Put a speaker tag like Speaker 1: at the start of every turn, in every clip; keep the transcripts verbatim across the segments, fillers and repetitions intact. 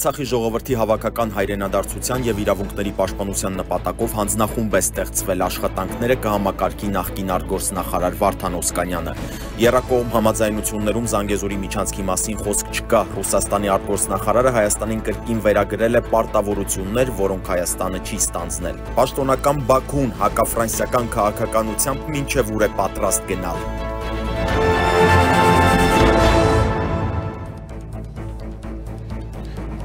Speaker 1: Արցախի ժողովրդի հավաքական հայրենադարձության և իրավունքների պաշտպանության նպատակով հանձնախումբ է ստեղծվել, աշխատանքները կհամակարգի նախկին արտգործնախարար Վարդան Օսկանյանը։ Եռակողմ համաձայնություններում Զանգեզուրի միջանցքի մասին խոսք չկա։ Ռուսաստանի արտգործնախարարը Հայաստանին կրկին վերագրել է պարտավորություններ, որոնք Հայաստանը չի ստանձնել։ Պաշտոնական Բաքուն հակաֆրանսիական քաղաքականությամբ մինչև ուր է պատրաստ գնալ։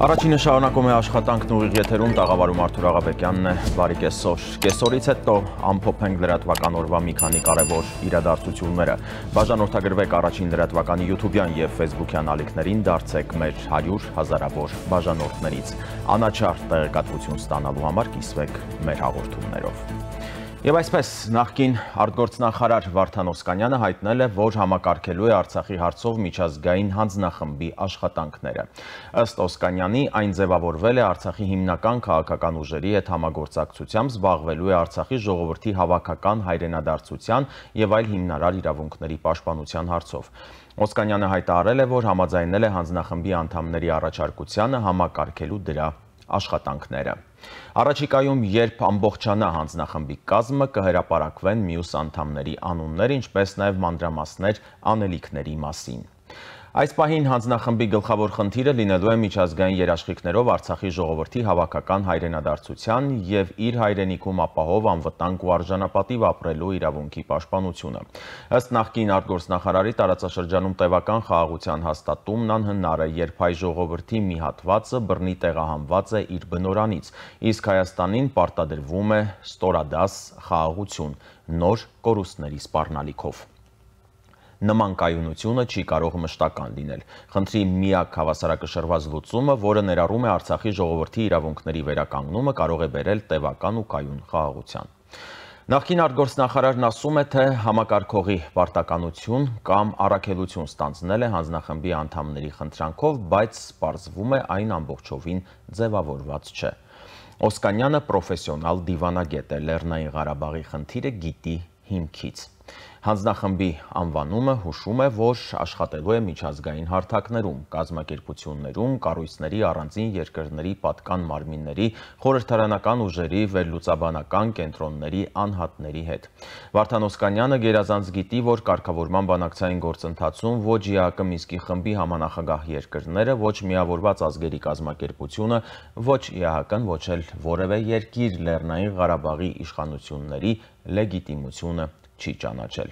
Speaker 1: Առաջինը շարունակում է աշխատանքն ուղիղ եթերում, տաղավարում Արթուր Աղաբեկյանն է, բարի կեսօր։ Կեսօրից հետո ամփոփենք լրատվական օրվա մի քանի կարևոր իրադարձությունները։ Բաժանորդագրվեք առաջին լրատվականի յութուբյան և ֆեյսբուքյան ալիքներին, դարձեք մեր հարյուր հազարավոր բաժանորդներից։ Անաչառ տեղեկատվություն ստանալու համար կիսվեք մեր հաղորդումներով։ Եվ այսպես, նախկին արտգործնախարար Վարդան Օսկանյանը հայտնել է, որ համակարգելու է Արցախի հարցով միջազգային հանձնախմբի աշխատանքները։ Ըստ Օսկանյանի, այն ձևավորվել է Արցախի հիմնական քաղաքական ուժերի հետ համագործակցությամբ, զբաղվելու է Արցախի ժողովրդի հավաքական հայրենադարձության և այլ հիմնարար իրավունքների պաշտպանության հարցով։ Օսկանյանը հայտարարել է, որ համաձայնել է հանձնախմբի անդամների առաջարկությանը համակարգելու դրա աշխատանքները։ Առաջիկայում, երբ ամբողջանա հանձնախմբի կազմը, կհրապարակվեն մյուս անդամների անուններ, ինչպես նաև մանրամասներ անելիքների մասին։ Այս պահին հանձնախմբի գլխավոր խնդիրը լինելու է միջազգային երաշխիքներով Արցախի ժողովրդի հավաքական հայրենադարձության և իր հայրենիքում ապահով անվտանգ ու արժանապատիվ ապրելու իրավունքի պաշտպանությունը։ Ըստ նախկին արտգործնախարարի, տարածաշրջանում տևական խաղաղության հաստատումն անհնար է, երբ հայ ժողովրդի մի հատվածը բռնի տեղահանված է իր բնորանից, իսկ Հայաստանին պարտադրվում է ստորադաս խաղաղություն նոր կորուստների սպառնալիքով։ Նման կայունությունը չի կարող մշտական լինել։ Խնդրի միակ հավասարակշռված լուծումը, որը ներառում է Արցախի ժողովրդի իրավունքների վերականգնումը, կարող է բերել տևական ու կայուն խաղաղության։ Նախկին արտգործնախարարն ասում է, թե համակարգողի պարտականություն կամ առաքելություն ստանձնել է հանձնախմբի անդամների խնդրանքով, բայց պարզվում է այն ամբողջովին ձևավորված չէ։ Օսկանյանը պրոֆեսիոնալ դիվանագետ է, Լեռնային Ղարաբաղի խնդիրը գիտի հիմքից։ Հանձնախմբի անվանումը հուշում է, որ աշխատելու է միջազգային հարթակներում, կազմակերպություններում, կառույցների, առանձին երկրների պատկան մարմինների, խորհրդարանական ուժերի, վերլուծաբանական կենտրոնների անհատների հետ։ Վարդան Օսկանյանը գերազանց գիտի, որ կարգավորման բանակցային գործընթացում ոչ ԵԱՀԿ Մինսկի խմբի համանախագահ երկրները, ոչ Միավորված ազգերի կազմակերպությունը, ոչ ԵԱՀԿ-ն, ոչ էլ որևէ երկիր Լեռնային Ղարաբաղի իշխանությունների լեգիտիմությունը չի ճանաչել։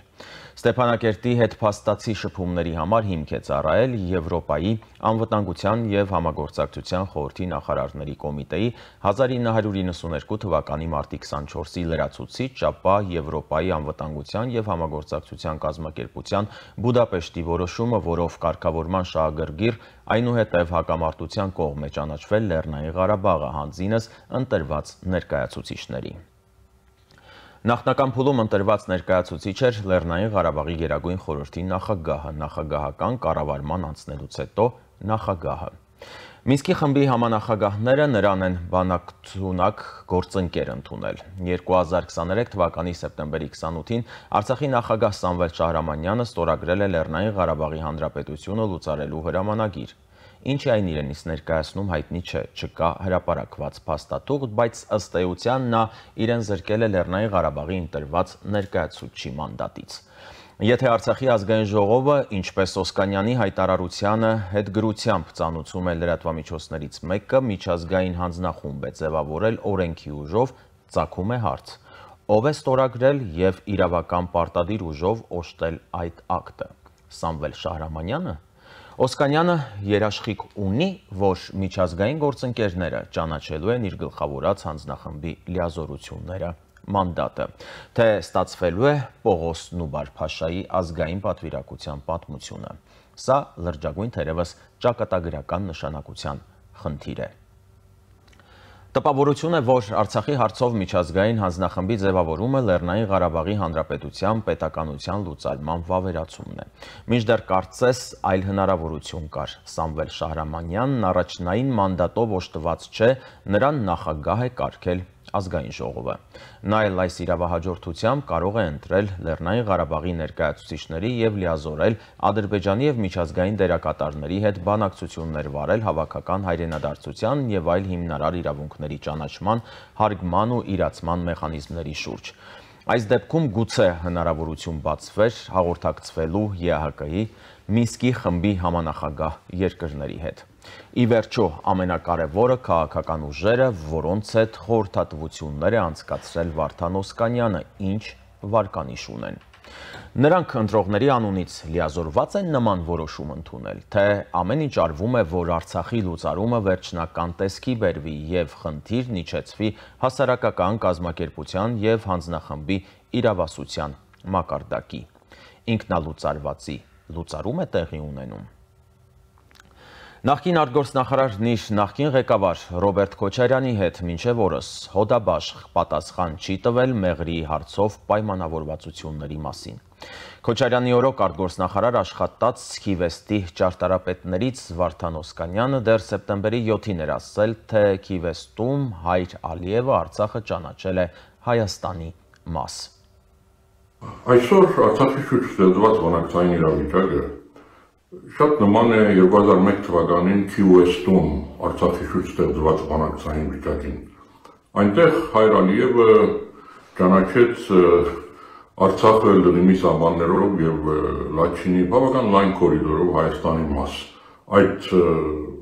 Speaker 1: Ստեփանակերտի հետ փաստացի շփումների համար հիմք է ծառայել Եվրոպայի անվտանգության և համագործակցության խորհրդի նախարարների կոմիտեի հազար ինը հարյուր իննսուններկու թվականի մարտի քսանչորսի լրացուցիչ, ապա Եվրոպայի անվտանգության և համագործակցության կազմակերպության Բուդապեշտի որոշումը, որով կարգավորման շահագրգիռ այնուհետև հակամարտության կողմ է ճանաչվել Լեռնային Ղարաբաղը, հանձինս ընտրված ներկայացուցիչների։ Նախնական փուլում ընտրված ներկայացուցիչ էր Լեռնային Ղարաբաղի Գերագույն խորհրդի նախագահը, նախագահական կառավարման անցնելուց հետո նախագահը։ Մինսկի խմբի համանախագահները նրան են բանակցունակ գործընկեր ընդունել։ երկու հազար քսաներեք թվականի սեպտեմբերի քսանութին Արցախի նախագահ Սամվել Շահրամանյանը ստորագրել է Լեռնային Ղարաբաղի Հանրապետությունը լուծարելու հրամանագիր։ Ինչ է այն իրենից ներկայացնում հայտնի չէ, չկա հրապարակված փաստաթուղթ, բայց ըստ էության նա իրեն զրկել է Լեռնային Ղարաբաղի ընտրված ներկայացուցչի մանդատից։ Եթե Արցախի ազգային ժողովը, ինչպես Օսկանյանի հայտարարությանը հետգրությամբ ծանուցում է լրատվամիջոցներից մեկը, միջազգային հանձնախումբ է ձևավորել օրենքի ուժով, ծագում է հարց. ով է ստորագրել և իրավական պարտադիր ուժով օժտել այդ ակտը։ Սամվել Շահրամանյանը։ Օսկանյանը երաշխիք ունի, որ միջազգային գործընկերները ճանաչելու են իր գլխավորած հանձնախմբի լիազորությունները, մանդատը, թե ստացվելու է Պողոս Նուբար-Փաշայի ազգային պատվիրակության պատմությունը։ Սա լրջագույն թերևս ճակատագրական նշանակության խնդիր է։ Տպավորություն է, որ Արցախի հարցով միջազգային հանձնախմբի ձևավորումը Լեռնային Ղարաբաղի Հանրապետության պետականության լուծարման վավերացումն է։ Մինչդեռ կարծես այլ հնարավորություն կար։ Սամվել Շահրամանյանն առաջնային մանդատով օժտված չէ, նրան նախագահ է կարգել ազգային ժողովը։ Նա էլ այս իրավահաջորդությամբ կարող է ընտրել Լեռնային Ղարաբաղի ներկայացուցիչների եւ լիազորել Ադրբեջանի եւ միջազգային դերակատարների հետ բանակցություններ վարել հավաքական հայրենադարձության եւ այլ հիմնարար իրավունքների ճանաչման, հարգման ու իրացման մեխանիզմների շուրջ։ Այս դեպքում գուցե հնարավորություն բացվեր հաղորդակցվելու Է Հ Կ-ի Մինսկի խմբի համանախագահ երկրների հետ։ Ի վերջո, ամենակարևորը քաղաքական ուժերը, որոնց հետ խորհրդատվություններ է անցկացրել Վարդան Օսկանյանը, ինչ վարկանիշ ունեն։ Նրանք ընտրողների անունից լիազորված են նման որոշում ընդունել, թե ամեն ինչ արվում է, որ Արցախի լուծարումը վերջնական տեսքի բերվի եւ խնդիրն իջեցվի հասարակական կազմակերպության եւ հանձնախմբի իրավասության մակարդակի։ Ինքնալուծարվածի լուծարում է տեղի ունենում։ Նախկին արտգործնախարարն իր նախկին ղեկավար Ռոբերտ Քոչարյանի հետ մինչև օրս հոդաբաշխ պատասխան չի տվել Մեղրիի հարցով պայմանավորվածությունների մասին։ Քոչարյանի օրոք արտգործնախարար աշխատած Քիվեստի ճարտարապետներից Վարդան Օսկանյանը դեռ սեպտեմբերի յոթին էր ասել, թե Քիվեստում Հայր Ալիևը Արցախը ճանաչել է Հայաստանի մաս։
Speaker 2: Այսօր Արցախի շուրջ ստեղծված բանակցային իրավիճակը շատ նման է երկու հազար մեկ թվականին Քիվեստում Արցախի շուրջ ստեղծված բանակցային վիճակին։ Այնտեղ Հայր Ալիևը ճանաչեց Արցախը Լրիմի սահմաններով եւ Լաչինի բավական լայն կորիդորով Հայաստանի մաս։ Այդ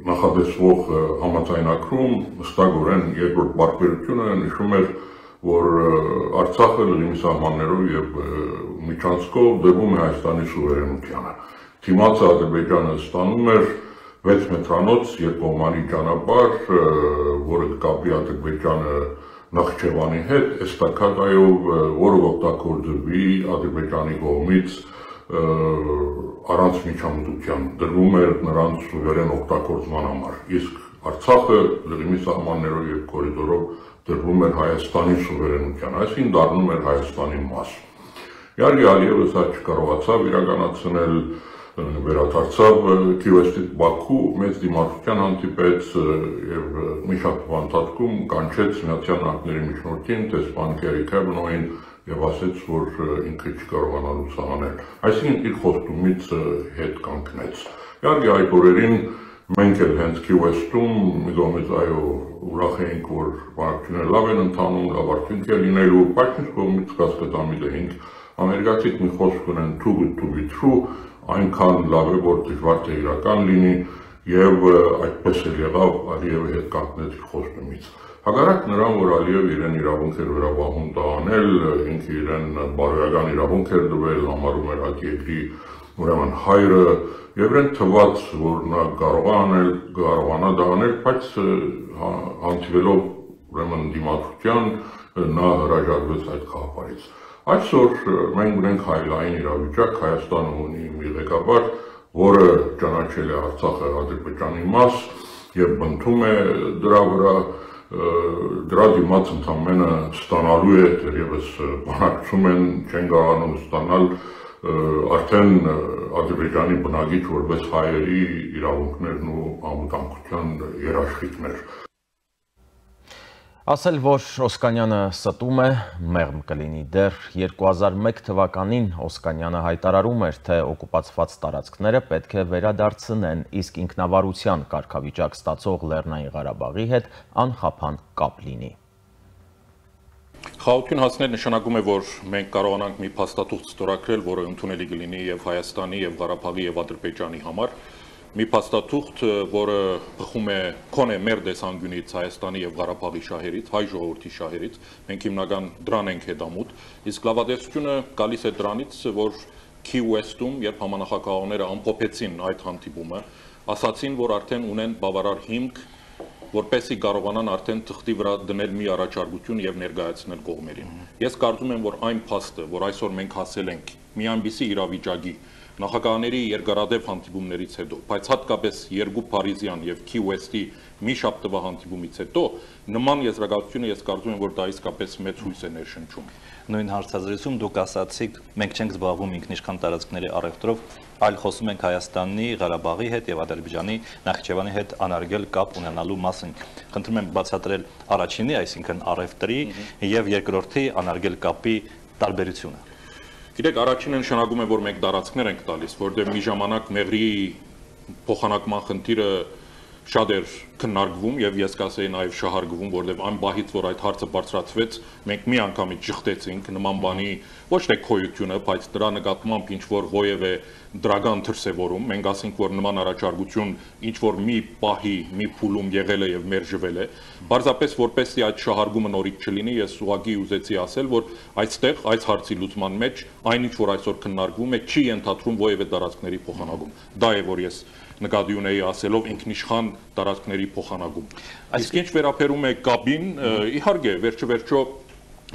Speaker 2: նախադեсվող համաձայնագրում հստակորեն երկրորդ բարբերությունը նշում էր, որ Արցախը Լրիմի սահմաններով եւ միջանցքով դրվում է Հայաստանի սուվերենությանը։ Դիմացը Ադրբեջանը ստանում էր վեց մետրանոց երկկողմանի ճանապարհ, որը կապի Ադրբեջանը Նախճեվանի հետ, էստակադայով, որը օգտագործվի Ադրբեջանի կողմից առանց միջամտության, դրվում էր նրանց սուվերեն օգտագործման համար։ Իսկ Արցախը Լրիմի սահմաններով եւ կորիդորով դրվում էր Հայաստանի սուվերենության, այսինքն դառնում էր Հայաստանի մաս։ Իհարկե Ալիևը սա չկարողացավ իրականացնել, վերադարձավ Քիվեստից Բաքու, մեծ դիմադրության հանդիպեց եւ մի շաբաթվա ընթացքում կանչեց Միացյալ Նահանգների միջնորդին Տեսփան Քերի Քեբնոին եւ ասաց, որ ինքը չկարողանա լուսանել։ Այսինքն իր խոստումից հետ կանգնեց։ Իհարկե այդ օրերին մենք էլ հենց Քիվեստում մի կողմից այո ուրախ էինք, որ բանակցությունները լավ են ընթանում, լավ արդյունք է լինելու, բայց մյուս կողմից կասկածամիտ էինք, ամերիկացիք մի խոսք ունեն too good to be true, այնքան լավ է, որ դժվար թե իրական լինի եւ այդպես էլ եղավ Ալիևի հետ կանգնեց իր խոստումից։ Հակառակ նրան, որ Ալիևը իրեն իրավունք էր վերաբախում դա անել, ինքը իրեն բարոյական իրավունք էր տվել, համարում էր այդ երկրի ուրեմն հայրը եւ իրեն թվաց, որ նա կարող է անել, կարողանա դա անել, բայց հանդիպելով ուրեմն դիմադրության նա հրաժարվեց այդ խաղապարից։ Այսօր մենք ունենք հայլային իրավիճակ, Հայաստանը ունի մի ղեկավար, որը ճանաչել է Արցախը Ադրբեջանի մաս եւ բնթում է դրա վրա, դրա դիմաց ընդամենը ստանալու է, դեռևս բանակցում են, չեն կարողանում ստանալ արդեն Ադրբեջանի բնակիչ որպես հայերի իրավունքներն ու անվտանգության երաշխիքներ։
Speaker 1: Ասել, որ Օսկանյանը ստում է, մեղմ կլինի։ Դեռ երկու հազար մեկ թվականին Օսկանյանը հայտարարում էր, թե օկուպացված տարածքները պետք է վերադարձնեն, իսկ ինքնավարության կարգավիճակ ստացող Լեռնային Ղարաբաղի հետ անխափան կապ լինի։
Speaker 3: Խաղաղություն հասնել նշանակում է, որ մենք կարողանանք մի փաստաթուղթ ստորագրել, որը ընդունելի կլինի եւ Հայաստանի, եւ Ղարաբաղի, եւ Ադրբեջանի համար։ Մի փաստաթուղթ, որը բխում է քոնե մեր տեսանկյունից Հայաստանի եւ Ղարաբաղի շահերից, հայ ժողովրդի շահերից, մենք հիմնական դրան ենք հետամուտ, իսկ լավատեսությունը գալիս է դրանից, որ Քիվեստում, երբ համանախագահողները ամփոփեցին այդ հանդիպումը, ասացին, որ արդեն ունեն բավարար հիմք, որպեսզի կարողանան արդեն թղթի վրա դնել մի առաջարկություն եւ ներկայացնել կողմերին։ Ես կարծում եմ, որ այն փաստը, որ այսօր մենք հասել ենք մի այնպիսի իրավիճակի, նախագահների երկարատև հանդիպումներից հետո, բայց հատկապես երկու Փարիզյան եւ Key West-ի մի շաբթվա հանդիպումից հետո նման եզրակացությունը ես կարծում եմ, որ դա իսկապես մեծ հույս է ներշնչում։
Speaker 4: Նույն հարցազրույցում դուք ասացիք, մենք չենք զբաղվում ինքնիշխան տարածքների առևտրով, այլ խոսում ենք Հայաստանի, Ղարաբաղի հետ եւ Ադրբեջանի, Նախիջևանի հետ անարգել կապ ունենալու մասին։ Խնդրում եմ բացատրել առաջինի, այսինքն առևտրի եւ երկրորդի անարգել կապի տարբերությունը։
Speaker 3: Գիտեք, առաջինը նշանակում է, որ մենք տարածքներ ենք տալիս, որտեղ մի ժամանակ մեղրի փոխանակման խնդիրը շատ էր քննարկվում եւ ես կասեի նաեւ շահարկվում, որովհետեւ այն բահից, որ այդ հարցը բարձրացվեց, մենք մի անգամից ճխտեցինք նման բանի ոչ թե քոյությունը, բայց դրա նկատմամբ ինչ որ ովևէ դրական դրսևորում, մենք ասենք, որ նման առաջարկություն ինչ որ մի պահի, մի փուլում եղել է եւ մերժվել է, բարձրապես որպեսզի այդ շահարկումը նորից չլինի, ես ուղղակի ուզեցի ասել, որ այստեղ այս հարցի լուծման մեջ այնինչ որ այսօր քննարկվում է, չի ենթադրում ովևէ տարածքների փոխանակում։ Դա է, որ ես նկատի ունեի ասելով ինքնիշխան տարածքների փոխանակում։ Իսկ ինչ վերաբերում է կապին, իհարկե, վերջը վերջո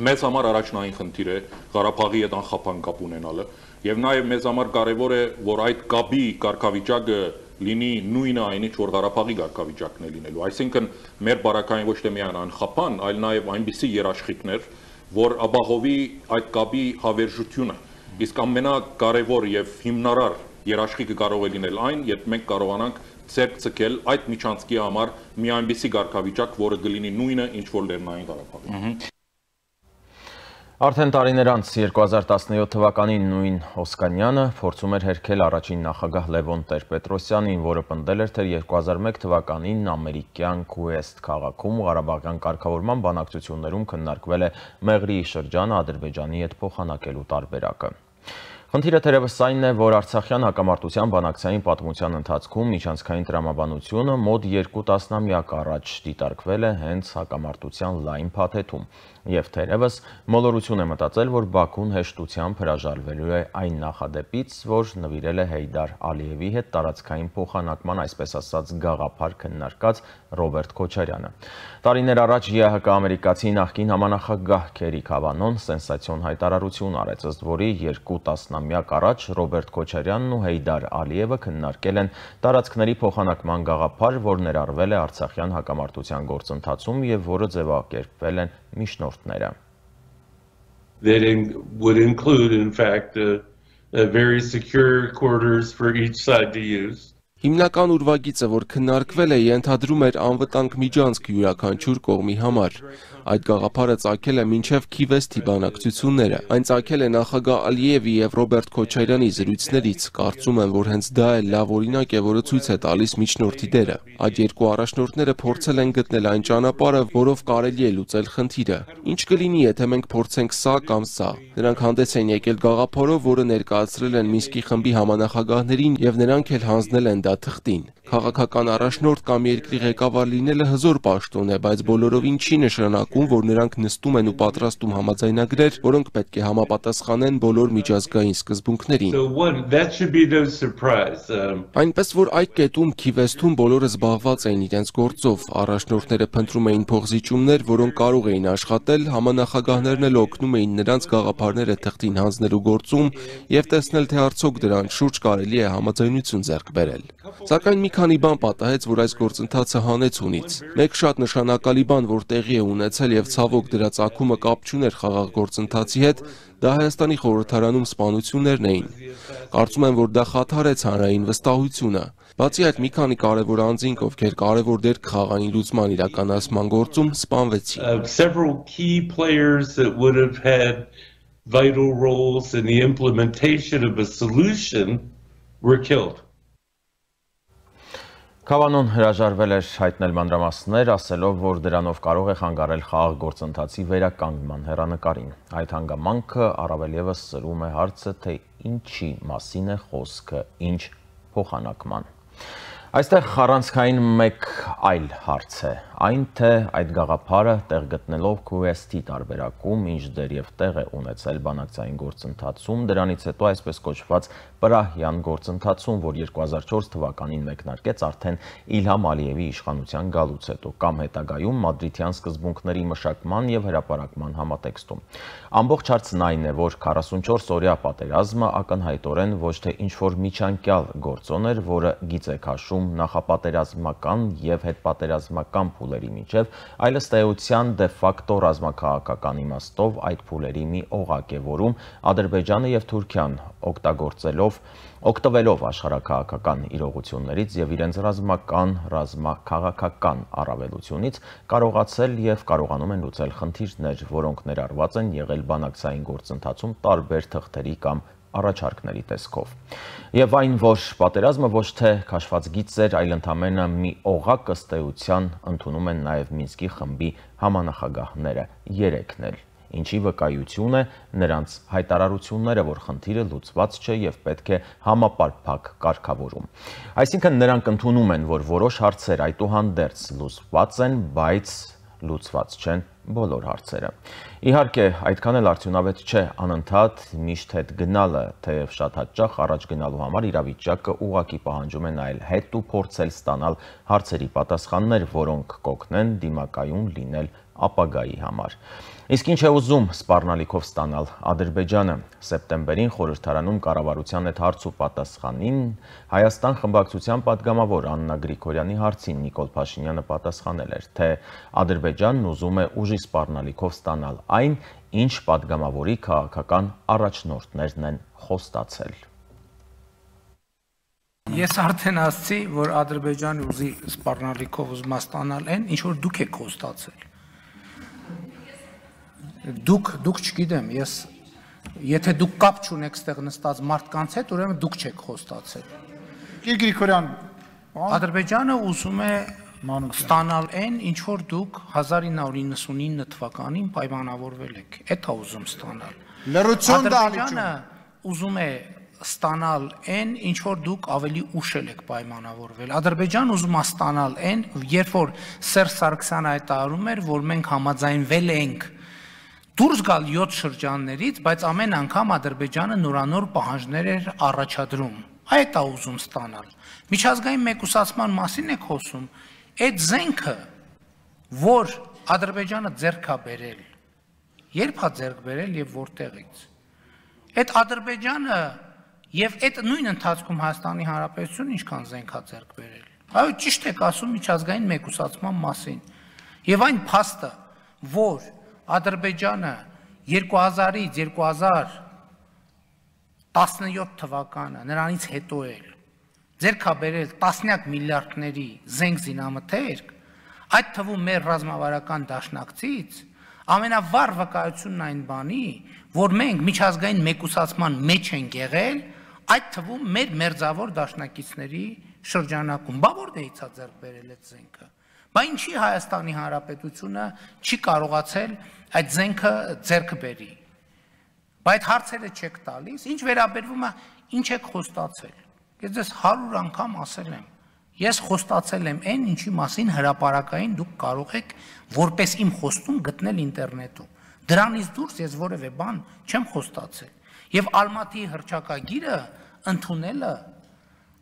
Speaker 3: մեզ համար առաջնային խնդիր է Ղարաբաղի հետ անխափան կապ ունենալը, եւ նաեւ մեզ համար կարեւոր է, որ այդ կապի կարգավիճակը լինի նույնը այնինչ որ Ղարաբաղի կարգավիճակն է լինելու։ Այսինքն մեր բարակային ոչ թե միայն անխափան, այլ նաեւ այնպիսի երաշխիքներ, որ ապահովի այդ կապի հավերժությունը։ Իսկ ամենակարևոր եւ հիմնարար երաշխիքը կարող է լինել այն, երբ մենք կարողանանք ցերկ ցկել այդ միջանցքի համար մի այնպիսի կարգավիճակ, որը կլինի նույնը, ինչ որ Լեռնային Ղարաբաղում։
Speaker 1: Արդեն տարիներ անց երկու հազար տասնյոթ թվականին նույն Օսկանյանը փորձում էր հերքել առաջին նախագահ Լևոն Տեր-Պետրոսյանին, որը պնդել էր, թե երկու հազար մեկ թվականին ամերիկյան Քուեստ քաղաքում Ղարաբաղյան կարգավորման բանակցություններում քննարկվել է Մեղրի շրջանը Ադրբեջանի հետ փոխանակելու տարբերակը։ Խնդիրը թերևս այն է, որ Արցախյան հակամարտության բանակցային պատմության ընթացքում միջանցքային տրամաբանությունը մոտ երկու տասնամյակ առաջ դիտարկվել է հենց հակամարտության լայն փաթեթում, եւ թերևս մոլորություն է մտածել, որ Բաքուն հեշտությամբ հրաժարվելու է այն նախադեպից, որ նվիրել է Հեյդար Ալիևի հետ տարածքային փոխանակման, այսպես ասած, գաղափար քննարկած Ռոբերտ Քոչարյանը։ Տարիներ առաջ ԵԱՀԿ ամերիկացի նախկին համանախագահ Քերի Քավանոն սենսացիոն հայտարարություն արեց, ըստ որի երկու տասնամյակ առաջ Ռոբերտ Քոչարյանն ու Հեյդար Ալիևը քննարկել են տարածքների փոխանակման գաղափար, որ ներառվել է Արցախյան հակամարտության գործընթացում եւ որը ձևակերպվել են միջնորդները։
Speaker 5: That would include, in fact, uh, uh, very secure quarters for each side to use.
Speaker 6: Հիմնական ուրվագիծը, որ քննարկվել է, ենթադրում էր անվտանգ միջանցք յուրաքանչյուր կողմի համար։ Այդ գաղափարը ծագել է մինչև Քիվեստի բանակցությունները։ Այն ծագել է նախագահ Ալիևի եւ Ռոբերտ Քոչարյանի զրույցներից։ Կարծում եմ, որ հենց դա է լավ օրինակ է, որը ցույց է տալիս միջնորդի դերը։ Այդ երկու առաջնորդները փորձել են գտնել այն ճանապարհը, որով կարելի է լուծել խնդիրը։ Ինչ կլինի, եթե մենք փորձենք սա կամ սա։ Նրանք հանդես են եկել գաղափարով, որը ներկայացրել են Մինսկի խմբի համանախագահներին եւ նրանք էլ հանձնել են դա թղթին։ Քաղաքական առաջնորդ կամ երկրի ղեկավար լինելը հզոր պաշտոն է, բայց բոլորովին չի նշանակում, որ նրանք նստում են ու պատրաստում համաձայնագրեր, որոնք պետք է համապատասխանեն բոլոր միջազգային սկզբունքներին։ Այնպես որ այդ կետում Քիվեստում բոլորը զբաղված էին իրենց գործով, առաջնորդները փնտրում էին փոխզիջումներ, որոնք կարող էին աշխատել, համանախագահներն էլ օգնում էին նրանց գաղափարները թղթին հանձնելու գործում եւ տեսնել, թե արդյոք դրանց շուրջ կարելի է համաձայնություն ձեռք բերել։ Սակայն մի քանի բան պատահեց, որ այս գործընթացը հանեց հունից։ Մեկ շատ նշանակալի բան, որ տեղի է ունեցել եւ ցավոք դրա ծագումը կապ չուներ խաղաղ գործընթացի հետ, դա Հայաստանի խորհրդարանում սպանություններն էին։ Կարծում եմ, որ դա խաթարեց հանրային վստահությունը։ Բացի այդ, մի քանի կարևոր անձինք, ովքեր կարևոր դեր կխաղային լուծման իրականացման գործում, սպանվեցին։
Speaker 5: Several key players that would have had vital roles in the implementation of a solution were killed.
Speaker 1: Քավանոն հրաժարվել էր հայտնել մանրամասներ, ասելով, որ դրանով կարող է խանգարել խաղաղ գործընթացի վերականգնման հեռանկարին։ Այդ հանգամանքը առավել ևս սրում է հարցը, թե ինչի մասին է խոսքը, ինչ փոխանակման։ Այստեղ խառանցքային մեկ այլ հարց է, այն թե այդ գաղափարը տեղ գտնելով Quest-ի տարբերակում, ինչ դեր և տեղ է ունեցել բանակցային գործընթացում, դրանից հետո այսպես կոչված Պրահյան գործընթացում, որ երկու հազար չորս թվականին մեկնարկեց արդեն Իլհամ Ալիևի իշխանության գալուց հետո, կամ հետագայում մադրիդյան սկզբունքների մշակման և հրապարակման համատեքստում։ Ամբողջ հարցն այն է, որ քառասունչորս օրյա պատերազմը ակնհայտորեն ոչ թե ինչ-որ միջանկյալ գործոն էր, որը գիծ է քաշում նախապատերազմական և հետպատերազմական փուլերի միջև, այլ ըստ էության դե ֆակտո ռազմաքաղաքական իմաստով այդ փուլերի մի օղակ է, որում Ադրբեջանը և Թուրքիան օգտագործելով օգտվելով աշխարհաքաղաքական իրողություններից և իրենց ռազմական, ռազմաքաղաքական առավելությունից կարողացել և կարողանում են լուծել խնդիրներ, որոնք ներառված են եղել բանակցային գործընթացում տարբեր թղթերի կամ առաջարկների տեսքով։ Եվ այն, որ պատերազմը ոչ թե քաշված գիծ էր, այլ ընդամենը մի օղակ ըստ էության ընդունում են նաև Մինսկի խմբի համանախագահները երեքն էլ, ինչի վկայություն է նրանց հայտարարությունները, որ խնդիրը լուծված չէ և պետք է համապարփակ կարգավորում։ Այսինքն նրանք ընդունում են, որ որոշ հարցեր այդուհանդերձ լուծված են, բայց լուծված չեն բոլոր հարցերը։ Իհարկե, այդքան էլ արդյունավետ չէ անընդհատ միշտ հետ գնալը, թեև շատ հաճախ առաջ գնալու համար իրավիճակը ուղղակի պահանջում է նայել հետ ու փորձել ստանալ հարցերի պատասխաններ, որոնք կօգնեն դիմակայուն լինել ապագայի համար։ Իսկ ինչ է ուզում սպառնալիքով ստանալ Ադրբեջանը։ Սեպտեմբերին խորհրդարանում կառավարության հետ հարց ու պատասխանին Հայաստան խմբակցության պատգամավոր Աննա Գրիգորյանի հարցին Նիկոլ Փաշինյանը պատասխանել էր, թե Ադրբեջանն ուզում է ուժի սպառնալիքով ստանալ այն, ինչ պատգամավորի քաղաքական առաջնորդներն են խոստացել։
Speaker 7: Ես արդեն ասացի, որ Ադրբեջանը ուզի սպառնալիքով ուզում է ստանալ այն, ինչ որ դուք եք խոստացել։ Դուք, դուք չգիտեմ, ես, եթե դուք կապ չունեք ստեղ նստած մարդկանց հետ, ուրեմն դուք չեք խոստացել։
Speaker 8: Գրիգորյան,
Speaker 7: Ադրբեջանը ուզում է ստանալ այն, ինչ որ դուք հազար ինը հարյուր իննսունինը թվականին պայմանավորվել եք։ Էդ է ուզում ստանալ։
Speaker 8: լրություն դա
Speaker 7: Ադրբեջանը ուզում է ստանալ այն, ինչ որ դուք ավելի ուշ եք պայմանավորվել։ Ադրբեջանը ուզում է ստանալ այն, երբ որ Սերժ Սարգսյանը հայտարարում էր, որ մենք համաձայնվել ենք դուրս գալ յոթ շրջաններից, բայց ամեն անգամ Ադրբեջանը նորանոր պահանջներ էր առաջադրում։ Այդ է ուզում ստանալ։ Միջազգային մեկուսացման մասին եք խոսում, այդ զենքը, որ Ադրբեջանը ձեռք է բերել, երբ է ձեռք բերել եւ որտեղից։ Այդ Ադրբեջանը եւ այդ նույն ընթացքում Հայաստանի Հանրապետությունը ինչքան զենք է ձեռք բերել։ Այո, ճիշտ եք ասում միջազգային մեկուսացման մասին։ Եվ այն փաստը, որ Ադրբեջանը երկու հազարից երկու հազար տասնյոթ թվականը նրանից հետո էլ ձեռք է բերել տասնյակ միլիարդների զենք զինամթերք, այդ թվում մեր ռազմավարական դաշնակցից ամենավառ վկայությունն այն բանի, որ մենք միջազգային մեկուսացման մեջ ենք եղել, այդ թվում մեր մերձավոր դաշնակիցների շրջանակում։ Բա որտեղից է ձեռք բերել այդ զենքը։ Բա ինչի Հայաստանի Հանրապետությունը չի կարողացել այդ զենքը ձեռք բերի։ Բայց այդ հարցերը չեք տալիս, ինչ վերաբերվում է, ինչ եք խոստացել։ Ես ձեզ հարյուր անգամ ասել եմ, ես խոստացել եմ այն, ինչի մասին հրապարակային դուք կարող եք որպես իմ խոստում գտնել ինտերնետում։ Դրանից դուրս ես որևէ բան չեմ խոստացել։ Եվ Ալմատիի հռչակագիրը ընդունելը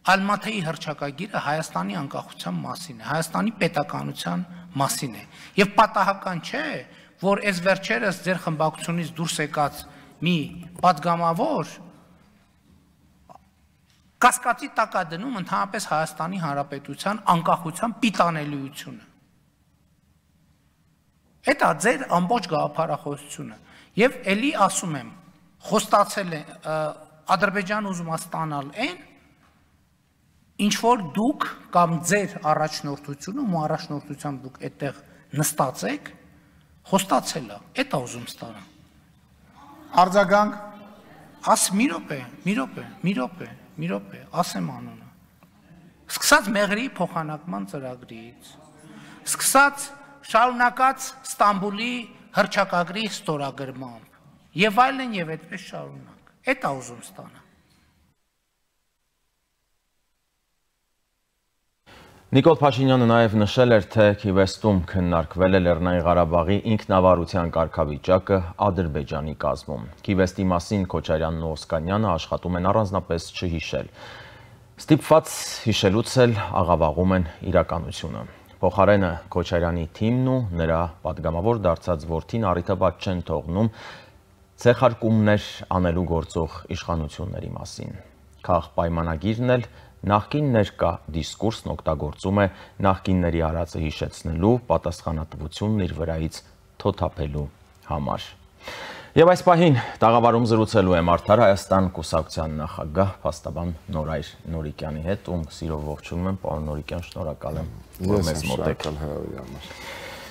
Speaker 7: Ալմատիի հռչակագիրը Հայաստանի անկախության մասին է, Հայաստանի պետականության մասին է։ Եվ պատահական չէ, որ այս վերջերս ձեր խմբակցությունից դուրս եկած մի պատգամավոր կասկածի տակ է դնում ընդհանրապես Հայաստանի Հանրապետության անկախության պիտանելիությունը։ Այդ է ձեր ամբողջ գաղափարախոսությունը։ Եվ էլի ասում եմ, խոստացել է Ադրբեջանը ուզում է ստանալ այն, ինչ որ դուք կամ ձեր առաջնորդությունում ու առաջնորդությամբ դուք այդտեղ նստած եք, խոստացել է, այդ է ուզում ստանալ։
Speaker 8: Արձագանք,
Speaker 7: Աս մի րոպե, մի րոպե, մի րոպե, մի րոպե, ասեմ անունը։ Սկսած Մեղրի փոխանակման ծրագրից, սկսած շարունակած Ստամբուլի հռչակագրի ստորագրմամբ, եւ այլն եւ այդպես շարունակ։ Այդ է ուզում ստանալ։
Speaker 1: Նիկոլ Փաշինյանը նաև նշել էր, թե Քիվեստում քննարկվել է Լեռնային Ղարաբաղի ինքնավարության կարգավիճակը Ադրբեջանի կազմում։ Քիվեստի մասին Քոչարյանն ու Օսկանյանը աշխատում են առանձնապես չհիշել։ Ստիպված հիշելուց էլ աղավաղում են իրականությունը։ Փոխարենը Քոչարյանի թիմն ու նրա պատգամավոր դարձած որդին առիթաբաց չեն թողնում ցեղարկումներ անելու գործող իշխանությունների մասին։ Քաղ պայմանագիրն էլ նախկին ներկա դիսկուրսն օգտագործում է նախկինների արածը հիշեցնելու, պատասխանատվությունն իր վրայից թոթափելու համար։ Եվ այս պահին տաղավարում զրուցելու եմ Արդար Հայաստան կուսակցության նախագահ փաստաբան Նորայր Նորիկյանի հետ, ում սիրով ողջունում եմ, պարոն Նորիկյան, շնորհակալ եմ, որ մեզ մոտ եք։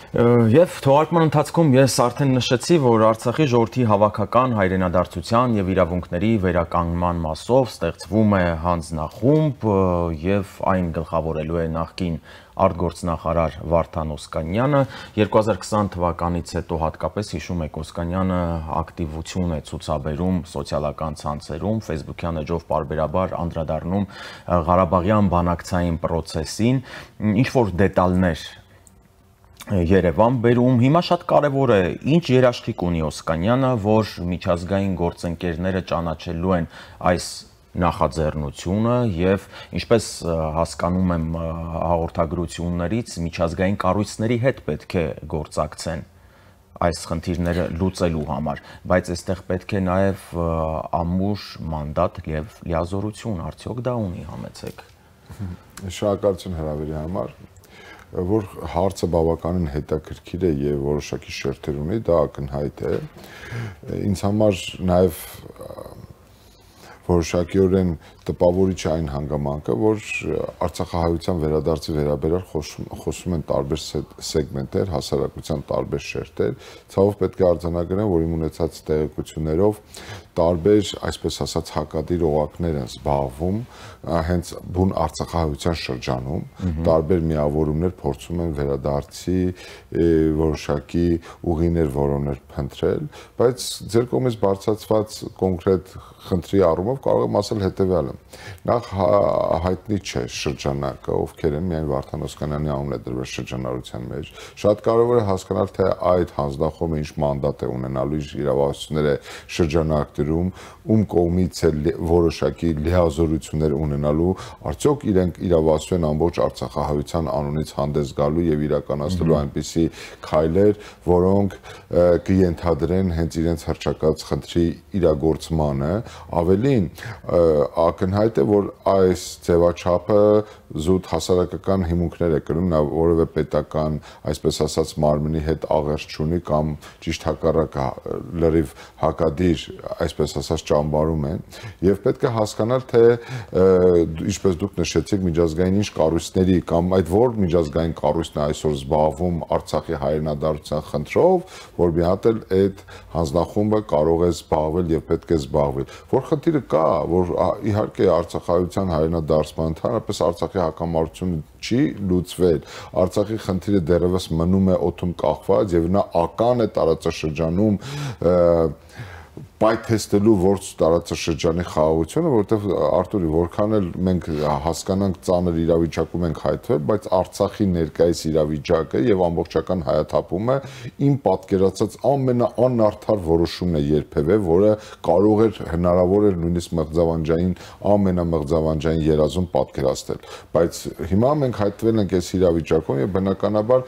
Speaker 1: Եվ թողարկման ընթացքում ես արդեն նշեցի, որ Արցախի ժողովրդի հավաքական հայրենադարձության եւ իրավունքների վերականգնման մասով ստեղծվում է հանձնախումբ եւ այն գլխավորելու է նախկին արտգործնախարար Վարդան Օսկանյանը։ երկու հազար քսան թվականից հետո հատկապես հիշում եք Օսկանյանը ակտիվություն է ցուցաբերում սոցիալական ցանցերում, Facebook-յան էջով պարբերաբար անդրադառնում Ղարաբաղյան բանակցային process-ին, ինչ որ դետալներ Երևան բերում, հիմա շատ կարևոր է, ինչ երաշխիք ունի Օսկանյանը, որ միջազգային գործընկերները ճանաչելու են այս նախաձեռնությունը եւ ինչպես հասկանում եմ հաղորդագրություններից միջազգային կառույցների հետ պետք է գործակցեն այս խնդիրները լուծելու համար, բայց այստեղ պետք է նաեւ ամուր մանդատ եւ լիազորություն, արդյոք դա ունի, համեցեք։
Speaker 9: Շնորհակալություն հրավերի համար, որ հարցը բավականին հետաքրքիր է եւ որոշակի շերտեր ունի, դա ակնհայտ է։ Ինձ համար նաեւ որոշակիորեն տպավորիչ է այն հանգամանքը, որ Արցախահայության վերադարձի վերաբերյալ խոսում են տարբեր սեգմենտներ, հասարակության տարբեր շերտեր, ցավով պետք է արձանագրեմ, որ իմ ունեցած տեղեկություններով տարբեր, այսպես ասած, հակադիր օղակներ են զբաղվում հենց բուն Արցախահայության շրջանում, տարբեր միավորումներ փորձում են վերադարձի որոշակի ուղիներ որոներ փնտրել, բայց ձեր կողմից բարձրացված կոնկրետ խնդրի առումով կարող եմ ասել հետևյալը։ Նախ հայտնի չէ շրջանակը, ովքեր են, միայն Վարդան Օսկանյանի անունն է դրվել շրջանառության մեջ։ Շատ կարևոր է հասկանալ, թե այդ հանձնախումբը ինչ մանդատ է ունենալու, ինչ իրավասություններ է շրջանակներում, ում կողմից է որոշակի լիազորություններ ունենալու, արդյոք իրենք իրավասու են ամբողջ Արցախահայության անունից հանդես գալու եւ իրականացնելու այնպիսի քայլեր, որոնք կենթադրեն հենց իրենց հռչակած խնդրի իրագործմանը, ավելին ակնհայտ է, որ այս ձևաչափը զուտ հասարակական հիմունքներ է կրում, նա որևէ պետական, այսպես ասած, մարմնի հետ աղերս չունի կամ ճիշտ հակառակը լրիվ հակադիր, այսպես ասած, ճամբարում են, եւ պետք է հասկանալ, թե ինչպես դուք նշեցիք, միջազգային ինչ կառույցների կամ այդ որ միջազգային կառույցն է այսօր զբաղվում Արցախի հայրենադարձության խնդրով, որ մի հատ էլ այդ հանձնախումբը կարող է զբաղվել եւ պետք է զբաղվել։ Որ խնդիրը կա, որ իհարկե Արցախահայության հայրենադարձման ընդհանրապես Արցախի հակամարտությունը չի լուծվել, Արցախի խնդիրը դեռևս մնում է օդում կախված եւ նա ական է տարածաշրջանում պայթեստելու որց տարածաշրջանի խաղաղությունը, որտեղ Արտուրի, որքան էլ մենք հասկանանք ծանր իրավիճակում ենք հայտնվել, բայց Արցախի ներկայիս իրավիճակը եւ ամբողջական հայաթափումը իմ պատկերացած ամենաանարդար որոշումն է երբևէ, որը կարող էր հնարավոր էր նույնիսկ մղձավանջային ամենամղձավանջային երազում պատկերացնել, բայց հիմա մենք հայտնվել ենք այս իրավիճակում եւ բնականաբար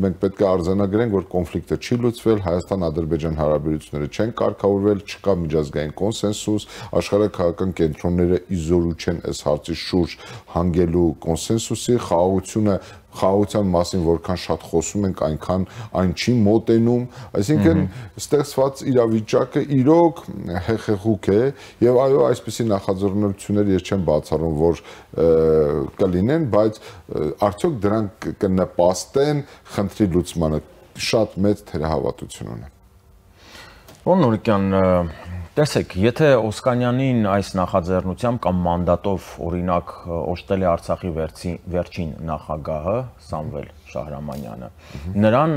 Speaker 9: մենք պետք է արձանագրենք, որ կոնֆլիկտը չի լուծվել, Հայաստան-Ադրբեջան հարաբերությունները չեն կարգավորվել, չկա միջազգային կոնսենսուս, աշխարհաքաղաքական կենտրոնները իզորու չեն այս հարցի շուրջ հանգելու կոնսենսուսի, խաղաղությունը խաղաղության մասին որքան շատ խոսում ենք, այնքան այն չի մոտենում, այսինքն ստեղծված իրավիճակը իրոք հեղեղուկ է եւ այո, այսպիսի նախաձեռնություններ ես չեմ բացառում, որ կլինեն, բայց արդյոք դրանք կնպաստեն խնդրի լուծմանը, շատ մեծ թերահավատություն ունեմ։
Speaker 1: Պարոն Նորիկյան, տեսեք, եթե Օսկանյանին այս նախաձեռնությամբ կամ մանդատով օրինակ օժտել է Արցախի վերջին նախագահը Սամվել Շահրամանյանը, նրան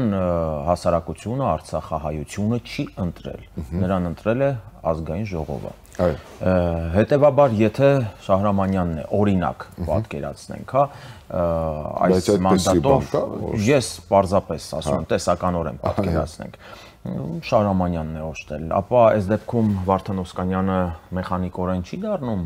Speaker 1: հասարակությունը, Արցախահայությունը չի ընտրել, նրան ընտրել է ազգային ժողովը։ Հետևաբար, եթե Շահրամանյանն է, օրինակ պատկերացնենք, հա, այս մանդատով ես պարզապես ասում եմ, տեսականորեն պատկերացնենք, Շահրամանյանն է օժտել, ապա այս դեպքում Վարդան Օսկանյանը մեխանիկորեն չի դառնում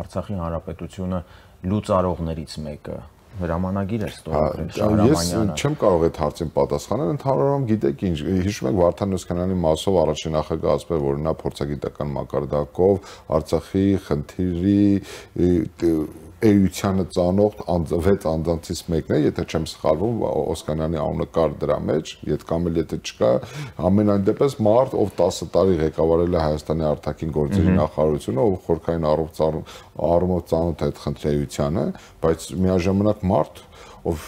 Speaker 1: Արցախի Հանրապետությունը լուծարողներից մեկը։ Հրամանագիր է ստորագրել Շահրամանյանը։
Speaker 9: Ես չեմ կարող այդ հարցին պատասխանել, ընդհանրորեն գիտեք ինչ, հիշում եք Վարդան Օսկանյանի մասով առաջին նախագահ ասվել, որ նա փորձագիտական մակարդակով Արցախի խնդիրի էությանը ծանոթ վեց անձանցից մեկն է, եթե չեմ սխալվում, Օսկանյանի անունը կար դրա մեջ, եթե կամ էլ եթե չկա, ամենայն դեպս մարդ, ով տասը տարի ղեկավարել է Հայաստանի արտաքին գործերի նախարարությունը, ով խորքային առումով ծանոթ է այդ խնդրի էությանը, բայց միաժամանակ մարդ, ով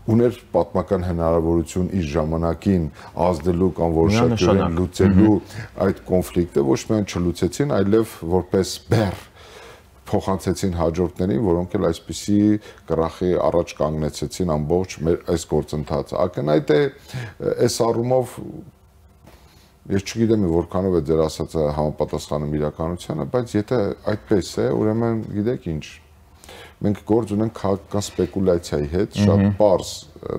Speaker 9: ուներ պատմական հնարավորություն իր ժամանակին ազդելու կամ որոշակիորեն լուծելու այդ կոնֆլիկտը, ոչ միայն չլուծեցին, այլև որպես բեռ փոխանցեցին հաջորդներին, որոնք էլ այսպիսի կրախի առաջ կանգնեցեցին ամբողջ մեր այս գործընթացը։ Ակնհայտ է այս առումով ես չգիտեմ որքանով է ձեր ասածը համապատասխանում իրականությանը, բայց եթե այդպես է, ուրեմն գիտեք ինչ, մենք գործ ունենք քաղաքական սպեկուլյացիայի հետ, շատ պարզ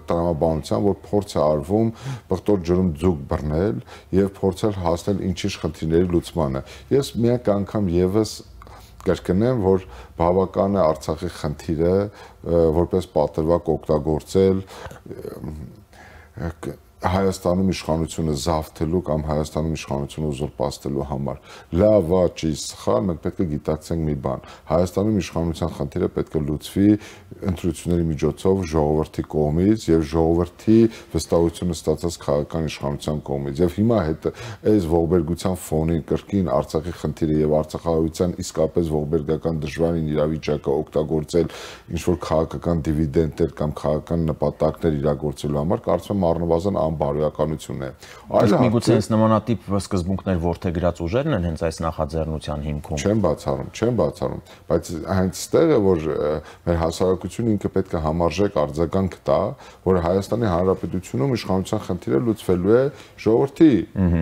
Speaker 9: տրամաբանության, որ փորձ է արվում բղտոր ջրում ձուկ բռնել եւ փորձել հասնել ինչ-ինչ խնդիրների լուծմանը։ Ես միակ անգամ եւս կրկնեմ, որ բավական է Արցախի խնդիրը որպես պատրվակ օգտագործել Հայաստանում իշխանությունը զավթելու կամ Հայաստանում իշխանությունը ուզուրպացնելու համար։ Լավ, ճի, սխալ, մենք պետք է գիտակցենք մի բան։ Հայաստանում իշխանության խնդիրը պետք է լուծվի ընտրությունների միջոցով ժողովրդի կողմից եւ ժողովրդի վստահությունը ստացած քաղաքական իշխանության կողմից։ Եվ հիմա հետ այս ողբերգության ֆոնին կրկին Արցախի խնդիրը եւ արցախահայության իսկապես ողբերգական դժվարին իրավիճակը օգտագործել ինչ որ քաղաքական դիվիդենտներ կամ քաղաքական նպատակներ իրագործելու համար, կարծում եմ առնվազն բարոյականություն է։
Speaker 1: Այլ միգուցե այս նմանատիպ սկզբունքներ որդեգրած ուժերն են հենց այս նախաձեռնության հիմքում։
Speaker 9: Չեմ բացառում, չեմ բացառում, բայց հենց այստեղ է, որ մեր հասարակությունը ինքը պետք է համարժեք արձագանք տա, որ Հայաստանի Հանրապետությունում իշխանության խնդիրը լուծվելու է ժողովրդի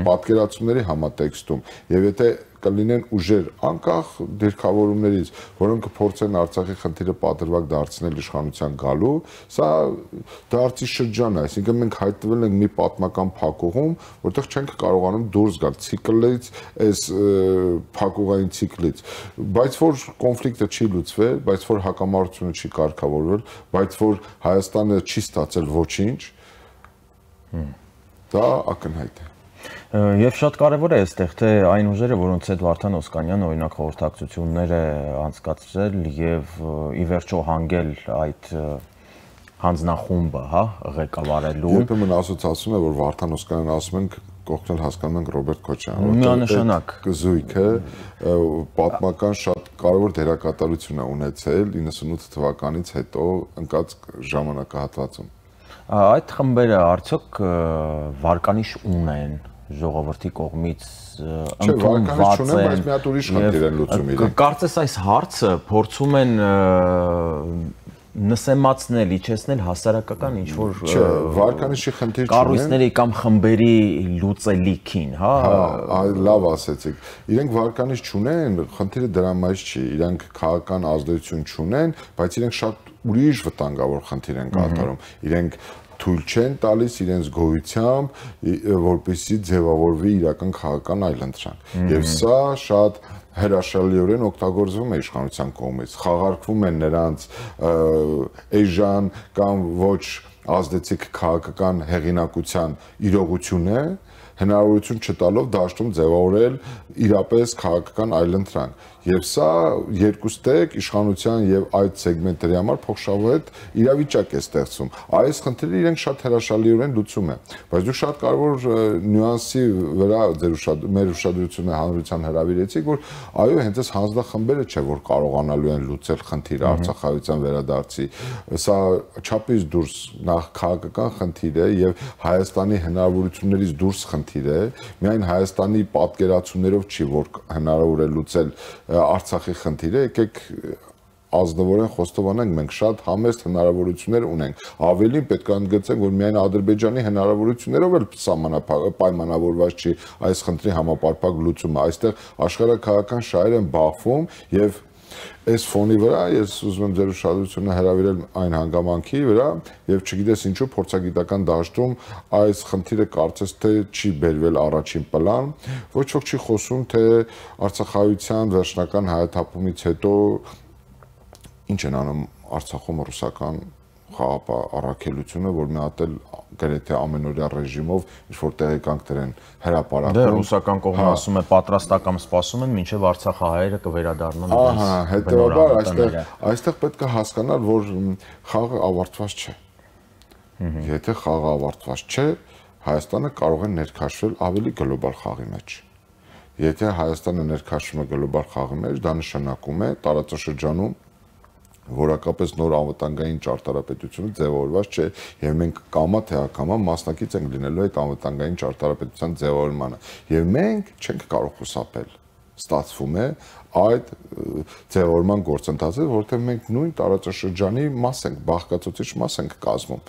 Speaker 9: պատկերացումների համատեքստում, եւ եթե կլինեն ուժեր անկախ դիրքավորումներից, որոնք կփորձեն Արցախի խնդիրը պատրվակ դարձնել իշխանության գալու, սա դարձի շրջան է, այսինքն մենք հայտնվել ենք մի պատմական փակուղում, որտեղ չենք կարողանում դուրս գալ ցիկլից, այս փակուղային ցիկլից, բայց որ կոնֆլիկտը չի լուծվել, բայց որ հակամարտությունը չի կարգավորվել, բայց որ Հայաստանը չի ստացել ոչինչ, դա ակնհայտ է։
Speaker 1: Եվ շատ կարևոր է այստեղ, թե այն ուժերը, որոնց հետ Վարդան Օսկանյանը օրինակ խորհրդակցություններ է անցկացրել եւ ի վերջո հանգել այդ հանձնախումբը, հա, ղեկավարելու։
Speaker 9: Երբեմն ասոցիացիան է, որ Վարդան Օսկանյանն ասում ենք կողքնել հասկանում ենք Ռոբերտ Քոչարյանը,
Speaker 1: միանշանակ
Speaker 9: զույգը պատմական շատ կարևոր դերակատարություն է ունեցել իննսունութ թվականից հետո ընկած ժամանակահատվածում։
Speaker 1: Այդ խմբերը արդյոք վարկանիշ ունեն ժողովրդի կողմից ընդունված են,
Speaker 9: բայց մի հատ ուրիշ խնդիր են լուծում իրենք։
Speaker 1: Կարծես այս հարցը փորձում են նսեմացնել, իջեցնել հասարակական ինչ որ
Speaker 9: վարկանիշի խնդիր չունեն,
Speaker 1: կառույցների կամ խմբերի լուծելիքին, հա։
Speaker 9: Լավ ասեցիք։ Իրենք վարկանիշ չունեն, խնդիրը դրա մեջ չի, իրենք քաղաքական ազդեցություն չունեն, բայց իրենք շատ ուրիշ վտանգավոր խնդիր են կատարում։ Իրենք թույլ չեն տալիս իրենց գոյությամբ, որպեսզի ձևավորվի իրական քաղաքական այլընտրանք։ Եվ սա շատ հրաշալիորեն օգտագործվում է իշխանության կողմից, խաղարկվում են նրանց էժան կամ ոչ ազդեցիկ քաղաքական հեղինակության իրողությունը, հնարավորություն չտալով դաշտում ձևավորել իրապես քաղաքական այլընտրանք։ Եվ սա երկուստեք իշխանության եւ այդ սեգմենտների համար փոխշահավետ իրավիճակ է ստեղծում։ Այս խնդիրը իրենք շատ հրաշալիորեն լուծում են, բայց դուք շատ կարևոր նյուանսի վրա ձեր ուշad մեր ուշադրությունը հանրության հրավիրեցիք, որ այո, հենց այս հանձնախմբերը չէ, որ կարողանալու են լուծել խնդիրը արցախահայության վերադարձի։ Սա չափից դուրս նախ քաղաքական խնդիր է եւ Հայաստանի հնարավորություններից դուրս խնդիր է, միայն Հայաստանի պատկերացումներով չի, որ հնարավոր է լուծել Արցախի խնդիրը, եկեք ազնվորեն խոստովանենք, մենք շատ համեստ հնարավորություններ ունենք։ Ավելին պետք է ընդգծենք, որ միայն Ադրբեջանի հնարավորություններով էլ պայմանավորված չի այս խնդրի համապարփակ լուծումը։ Այստեղ աշխարհաքաղաքական շահեր են բախվում եւ այս ֆոնի վրա ես ուզում եմ ձեր ուշադրությունը հրավիրել այն հանգամանքի վրա եւ չգիտես ինչու փորձագիտական դաշտում այս խնդիրը կարծես թե չի բերվել առաջին պլան, ոչ ոք չի խոսում թե Արցախայցյան վերջնական հայաթափումից հետո ինչ են անում Արցախում ռուսական խաղապահ առաքելությունը, որ մի հատ էլ գրեթե ամենօրյա ռեժիմով ինչ-որ տեղեկանք դրեն հրապարակում։
Speaker 1: Դե ռուսական կողմը ասում է պատրաստական սպասում են, մինչև արցախահայերը կվերադառնան։
Speaker 9: Ահա, հետեւաբար այստեղ այստեղ պետք է հասկանալ, որ խաղը ավարտված չէ։ Եթե խաղը ավարտված չէ, Հայաստանը կարող է ներքաշվել ավելի գլոբալ խաղի մեջ։ Եթե Հայաստանը ներքաշվում է գլոբալ խաղի մեջ, դա նշանակում է տարածաշրջանում որակապես նոր անվտանգային ճարտարապետությունը ձևավորված չէ եւ մենք կամա թե ակամա մասնակից ենք լինելու այդ անվտանգային ճարտարապետության ձևավորմանը եւ մենք չենք կարող խուսափել ստացվում է այդ ձևավորման գործընթացը, որտեղ մենք նույն տարածաշրջանի մաս ենք, բաղկացուցիչ մաս ենք կազմում։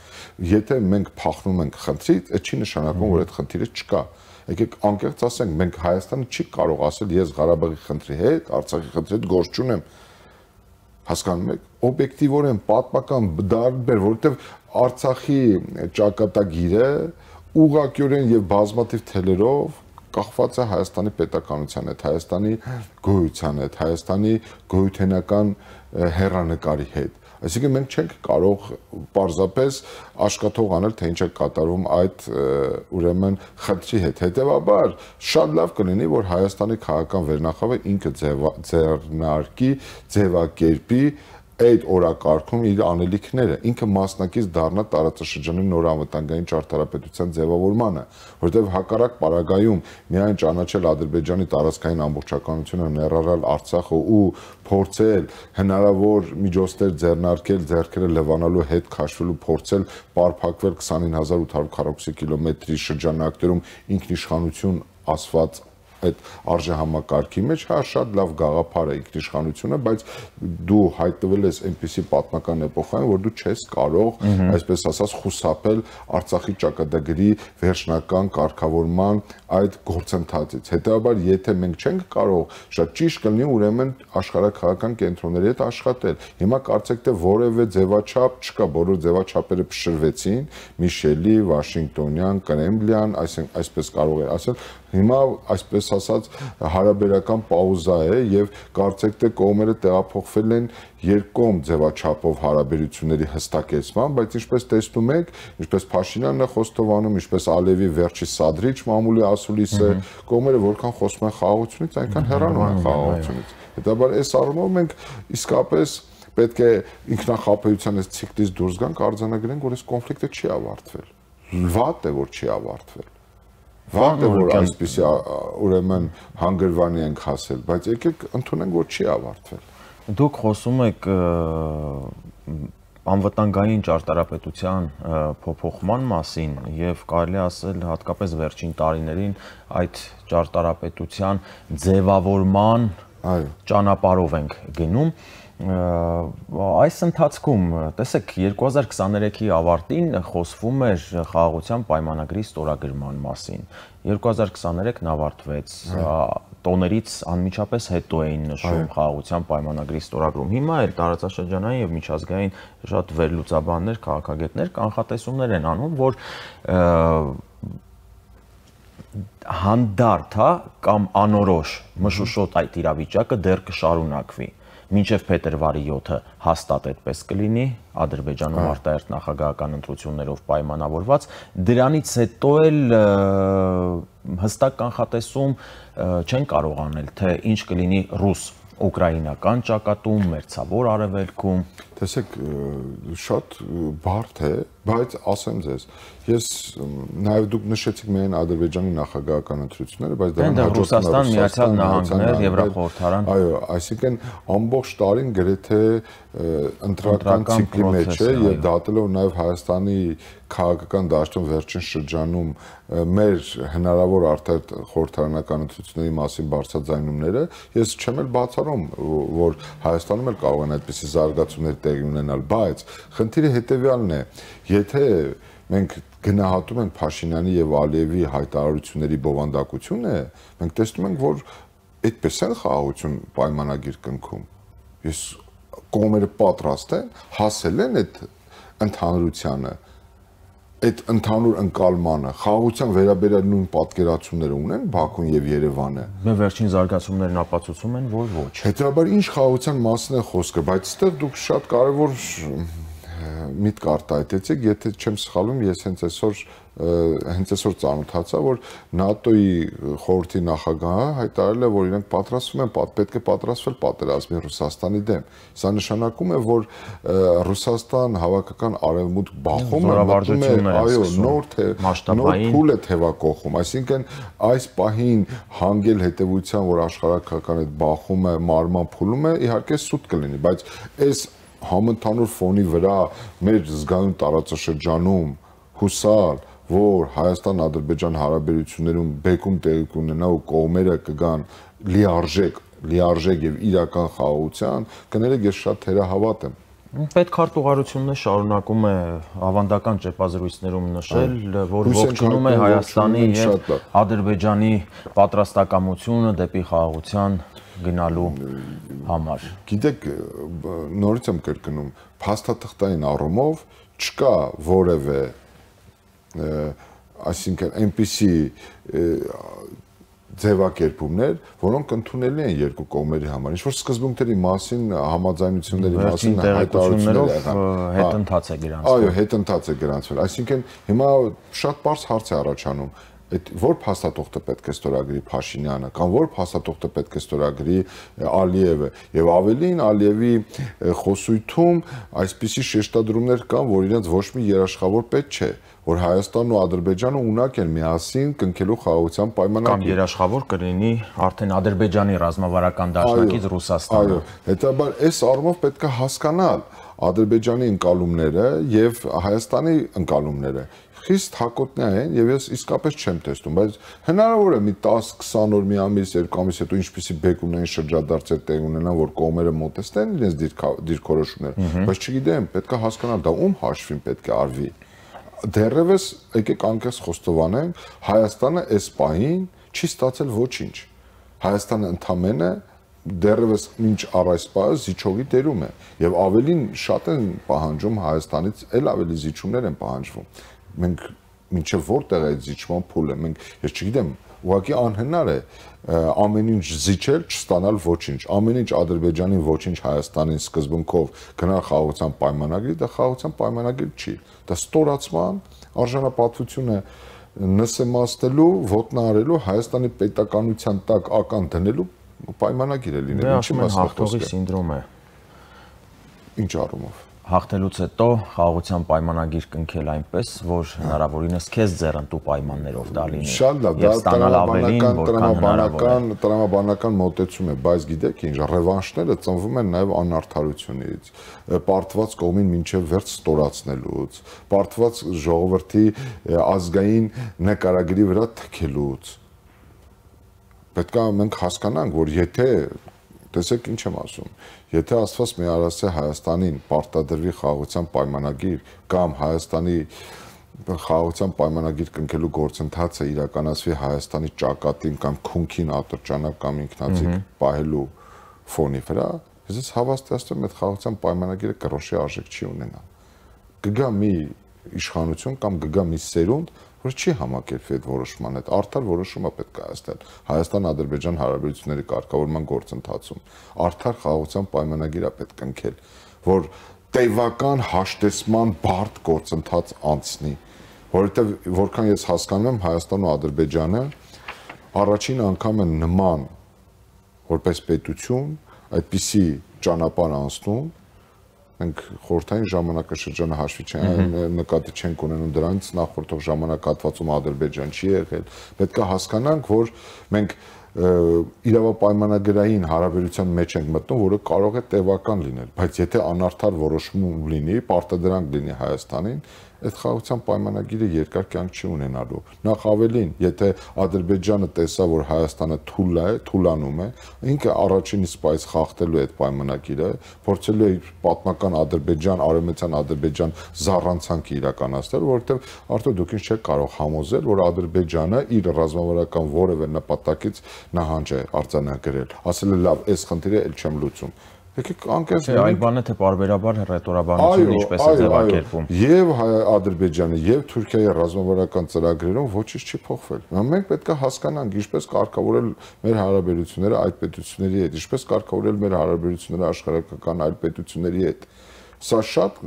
Speaker 9: Եթե մենք փախնում ենք խնդրից, այդ չի նշանակում, որ այդ խնդիրը չկա։ Եկեք անկեղծ ասենք, մենք Հայաստանը չի կարող ասել, ես Ղարաբաղի խնդրի հետ, Արցախի խնդրի հետ գործ չունեմ։ Հասկանում եք, օբյեկտիվորեն պատմական դարբեր, որովհետև Արցախի ճակատագիրը ուղղակիորեն եւ բազմաթիվ թելերով կախված է Հայաստանի պետականության հետ, Հայաստանի գոյության հետ, Հայաստանի գոյութենական հեռանկարի հետ։ Այսինքն մենք չենք կարող պարզապես աշխատող անել, թե ինչ է կատարվում այդ ուրեմն խնդրի հետ։ Հետևաբար շատ լավ կլինի, որ Հայաստանի քաղաքական վերնախավը ինքը ձեռնարկի, ձևակերպի այդ օրակարգում իր անելիքները, ինքը մասնակից դառնա տարածաշրջանի նոր անվտանգային ճարտարապետության ձևավորմանը, որովհետև հակառակ պարագայում միայն ճանաչել Ադրբեջանի տարածքային ամբողջականությունը, ներառյալ Արցախը ու փորձել հնարավոր միջոցներ ձեռնարկել, ձեռքերը լվանալու հետ քաշվելու փորձել պարփակվել քսանինը հազար ութ հարյուր քառակուսի կիլոմետրի շրջանակներում ինքնիշխանություն ասված այդ արժեհամակարգի մեջ, հա շատ լավ գաղափար է ինքնիշխանությունը, բայց դու հայտնվել ես այնպիսի պատմական էպոխայում, որ դու չես կարող, այսպես ասած, խուսափել Արցախի ճակատագրի վերջնական կարգավորման այդ գործընթացից։ Հետևաբար, եթե մենք չենք կարող, շատ ճիշտ կլինի ուրեմն աշխարհաքաղաքական կենտրոնների հետ աշխատել։ Հիմա կարծեք թե որևէ ձևաչափ չկա, բոլոր ձևաչափերը փշրվեցին, Միշելի, Վաշինգտոնյան, Կրեմլյան, այսպես կարող է ասել, հիմա այսպես ասած հարաբերական պաուզա է եւ կարծեք թե կողմերը տեղափոխվել են երկկողմ ձևաչափով հարաբերությունների հստակեցման, բայց ինչպես տեսնում եք, ինչպես Փաշինյանն է խոստովանում, ինչպես Ալիևի վերջի սադրիչ մամուլի ասուլիս է, կողմերը որքան խոսում են խաղաղությունից, այնքան հեռանում են խաղաղությունից։ Հետաբար այս առումով մենք իսկապես պետք է ինքնախապեյության այս ցիկլից դուրս գանք, արձանագրենք, որ այս կոնֆլիկտը չի ավարտվել։ Վատ է, որ չի ավարտվել։ Վատ է, որ այսպիսի ուրեմն հանգրվանի ենք հասել, բայց եկեք ընդունենք, որ չի ավարտվել։
Speaker 1: Դուք խոսում եք անվտանգային ճարտարապետության փոփոխման մասին եւ կարելի ասել հատկապես վերջին տարիներին այդ ճարտարապետության ձևավորման ճանապարհով ենք գնում։ Այս ընթացքում, տեսեք, երկու հազար քսաներեքի ավարտին խոսվում էր խաղաղության պայմանագրի ստորագրման մասին։ երկու հազար քսաներեքն ավարտվեց, տոներից անմիջապես հետո էին նշում խաղաղության պայմանագրի ստորագրում։ Հիմա էլ տարածաշրջանային եւ միջազգային շատ վերլուծաբաններ, քաղաքագետներ կանխատեսումներ են անում, որ հանդարտ, հա, կամ անորոշ մշուշոտ այդ իրավիճակը դեռ կշարունակվի։ Մինչև փետրվարի յոթը հաստատ այդպես կլինի, Ադրբեջանում արտահերթ նախագահական ընտրություններով պայմանավորված, դրանից հետո էլ հստակ կանխատեսում չեն կարող անել, թե ինչ կլինի ռուս-ուկրաինական ճակատում, մերձավոր արևելքում։
Speaker 9: Տեսեք, շատ բարդ է, բայց ասեմ ձեզ, ես նաև դուք նշեցիք միայն Ադրբեջանի նախագահական ընտրությունները, բայց դրան հաջորդում է
Speaker 1: Միացյալ Նահանգներ, Եվրախորհրդարան։
Speaker 9: Այո, այսինքն ամբողջ տարին գրեթե ընտրական ցիկլի մեջ է եւ դատելով նաև Հայաստանի քաղաքական դաշտում վերջին շրջանում մեր հնարավոր արդար խորհրդարանական ընտրությունների մասին բարձրաձայնումները, ես չեմ էլ բացառում, որ Հայաստանում էլ կարող են այդպիսի զարգացումներ տեղի ունենալ, բայց խնդիրը հետեւյալն է, եթե մենք գնահատում ենք Փաշինյանի եւ Ալիևի հայտարարությունների բովանդակությունը, մենք տեսնում ենք, որ այդպես են խաղաղություն պայմանագիր կնքում։ Ես կողմերը պատրաստ են, հասել են այդ ընդհանրությանը, այդ ընդհանուր ընկալմանը, խաղաղության վերաբերյալ նույն պատկերացումները ունեն Բաքուն եւ Երևանը։
Speaker 1: Մեր վերջին զարգացումներն ապացուցում են, որ ոչ։
Speaker 9: Հետեւաբար ինչ խաղաղության մասին է խոսքը, բայց այստեղ դուք շատ կարևոր միտք արտահայտեցիք, եթե չեմ սխալվում, ես հենց այսօր հենց այսօր ծանոթացա, որ ՆԱՏՕ-ի խորհրդի նախագահը հայտարարել է, որ իրենք պատրաստվում են, պետք է պատրաստվել պատերազմի Ռուսաստանի դեմ։ Սա նշանակում է, որ Ռուսաստան հավաքական արևմուտք բախումը մտնում է, այո, նոր նոր փուլ է թևակողում, այսինքն այս պահին հանգել հետևության, որ աշխարհակական այդ բախումը մարման փուլում է, իհարկե սուտ կլինի, բայց այս համընդհանուր ֆոնի վրա մեր զգայուն տարածաշրջանում հուսալ, որ Հայաստան-Ադրբեջան հարաբերություններում բեկում տեղի կունենա ու կողմերը կգան լիարժեք, լիարժեք եւ իրական խաղաղության, կներեք ես շատ թերահավատ եմ։
Speaker 1: Պետքարտուղարությունն շարունակում է ավանդական ճեպազրույցներում նշել, որ ողջունում է Հայաստանի եւ Ադրբեջանի պատրաստակամությունը դեպի խաղաղության գնալու համար։
Speaker 9: Գիտեք, նորից եմ կրկնում, փաստաթղթային առումով չկա որևէ, այսինքն այնպիսի ձևակերպումներ, որոնք ընդունելի են երկու կողմերի համար։ Ինչ-որ սկզբունքների մասին, համաձայնությունների մասին
Speaker 1: հայտարարություններով հետընթաց է գրանցվել։
Speaker 9: Այո, հետընթաց է գրանցվել։ Այսինքն հիմա շատ པարզ հարց է առաջանում, այդ որ փաստաթուղթը պետք է ստորագրի Փաշինյանը կամ որ փաստաթուղթը պետք է ստորագրի Ալիևը եւ ավելին Ալիևի խոսույթում այսպիսի շեշտադրումներ կան, որ իրենց ոչ մի երաշխավոր պետք չէ, որ Հայաստանն ու Ադրբեջանը ունակ են միասին կնքելու խաղաղության պայմանագիր։
Speaker 1: Կամ երաշխավոր կլինի արդեն Ադրբեջանի ռազմավարական դաշնակից Ռուսաստանը։
Speaker 9: Այո, հետաբար այս առումով պետք է հասկանալ Ադրբեջանի ընկալումները եւ Հայաստանի ընկալումները խիստ հակոտնյա են եւ ես իսկապես չեմ տեսնում, բայց հնարավոր է մի դես քսան օր, մի ամիս, երկու ամիս հետո ինչպիսի բեկումնային շրջադարձեր տեղ ունենան, որ կողմերը մոտեցնեն իրենց դիրքորոշումները, բայց չգիտեմ, պետք է հասկանալ դա ում հաշվին պետք է արվի։ Դեռևս եկեք անկեղծ խոստովանենք, Հայաստանը այս պահին չի ստացել ոչինչ։ Հայաստանը ընդամենը դեռևս մինչ առ այս պահը զիջողի դերում է եւ ավելին շատ են պահանջում Հայաստանից, էլ ավելի զիջումներ են պահանջվում։ Մենք մինչև որտեղ է այդ զիջման փուլը, մենք ես չգիտեմ, ուղղակի անհնար է ամեն ինչ զիջել, չստանալ ոչինչ, ամեն ինչ Ադրբեջանին ոչինչ Հայաստանին սկզբունքով գնալ խաղաղության պայմանագրի, դա խաղաղության պայմանագիր չի, դա ստորացման արժանապատվությունը նսեմացնելու, ոտնահարելու, Հայաստանի պետականության տակ ական դնելու պայմանագիր է լինել,
Speaker 1: ինչի մասն հաղթողի սինդրոմ է։
Speaker 9: Ինչ առումով։
Speaker 1: Հաղթելուց հետո խաղաղության պայմանագիր կնքել այնպես, որ հնարավորինս քեզ ձեռնտու պայմաններով դա լինի։
Speaker 9: Շատ լավ, դա տրամաբանական, տրամաբանական, տրամաբանական մոտեցում է, բայց գիտեք ինչ, ռևանշները ծնվում են նաև անարդարությունից, պարտված կողմին մինչև վերջ ստորացնելուց, պարտված ժողովրդի ազգային նկարագրի վրա թքելուց։ Պետք է մենք հասկանանք, որ եթե տեսեք ինչ եմ ասում, եթե Աստված մի արասե Հայաստանին պարտադրվի խաղաղության պայմանագիր կամ Հայաստանի խաղաղության պայմանագիր կնքելու գործընթացը իրականացվի Հայաստանի ճակատին կամ քունքին ատրճանակ կամ ինքնացիկ պահելու ֆոնի վրա, ես հավաստիացնում եմ այդ խաղաղության պայմանագիրը կռոշի արժեք չի ունենա։ Կգա մի իշխանություն կամ կգա մի սերունդ, որ չի համակերպվի այդ որոշման հետ, արդար որոշումը պետք է հասնել Հայաստան-Ադրբեջան հարաբերությունների կարգավորման գործընթացում, արդար խաղաղության պայմանագիր է պետք է ընկել, որ տևական հաշտեցման բարդ գործընթաց անցնի, որովհետև որքան ես հասկանում եմ Հայաստանն ու Ադրբեջանը առաջին անգամ են նման որպես պետություն այդպիսի ճանապարհ անցնում, Մենք խորհրդային ժամանակաշրջանը հաշվի չենք նկատի չենք ունենում դրանից նախորդող ժամանակահատվածում Ադրբեջան չի եղել։ Պետք է հասկանանք, որ մենք իրավապայմանագրային հարաբերության մեջ ենք մտնում, որը կարող է տևական լինել, բայց եթե անարդար որոշում լինի, պարտադրանք լինի Հայաստանին, այդ խաղաղության պայմանագիրը երկար կյանք չի ունենալու։ Նախ ավելին, եթե Ադրբեջանը տեսա, որ Հայաստանը թույլ է, թուլանում է, ինքը առաջին իսկ այս խախտելու է այդ պայմանագիրը, փորձելու է պատմական Ադրբեջան, արևմտյան Ադրբեջան զառանցանք իրականացնել, որովհետև արդյոք դուք ինձ չեք կարող համոզել, որ Ադրբեջանը իր ռազմավարական որևէ նպատակից նահանջ է արձանագրել։ Ասել է լավ, այս խնդիրը էլ չեմ լուծում։ Եկեք անկեղծ
Speaker 1: լինենք։ Այլ բան է թե բարբերաբար ռետորաբանությունը ինչպես է ձևակերպում։
Speaker 9: Եվ Ադրբեջանի եւ Թուրքիայի ռազմավարական ծրագրերում ոչինչ չի փոխվել։ Մենք պետք է հասկանանք ինչպես կարգավորել մեր հարաբերությունները այդ պետությունների հետ, ինչպես կարգավորել մեր հարաբերությունները աշխարհական այլ պետությունների հետ։ Սա շատ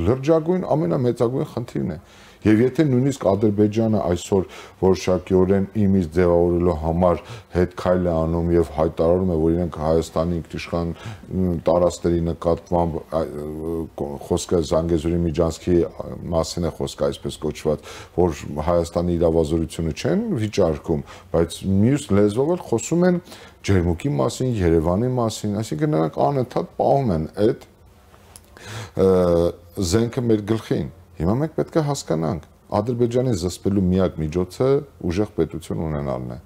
Speaker 9: լրջագույն ամենամեծագույն խնդիրն է։ Եվ եթե նույնիսկ Ադրբեջանը այսօր որոշակիորեն իմիջ ձևավորելու համար հետ քայլ է անում եւ հայտարարում է, որ իրենք Հայաստանի ինքնիշխան տարածքների նկատմամբ խոսքը Զանգեզուրի միջանցքի մասին է խոսքը այսպես կոչված, որ Հայաստանի իրավազորությունը չեն վիճարկում, բայց մյուս լեզվով էլ խոսում են Ջերմուկի մասին, Երևանի մասին, այսինքն նրանք անընդհատ պահում են այդ զենքը մեր գլխին։ Հիմա մենք պետք է հասկանանք, Ադրբեջանի զսպելու միակ միջոցը ուժեղ պետություն ունենալն է,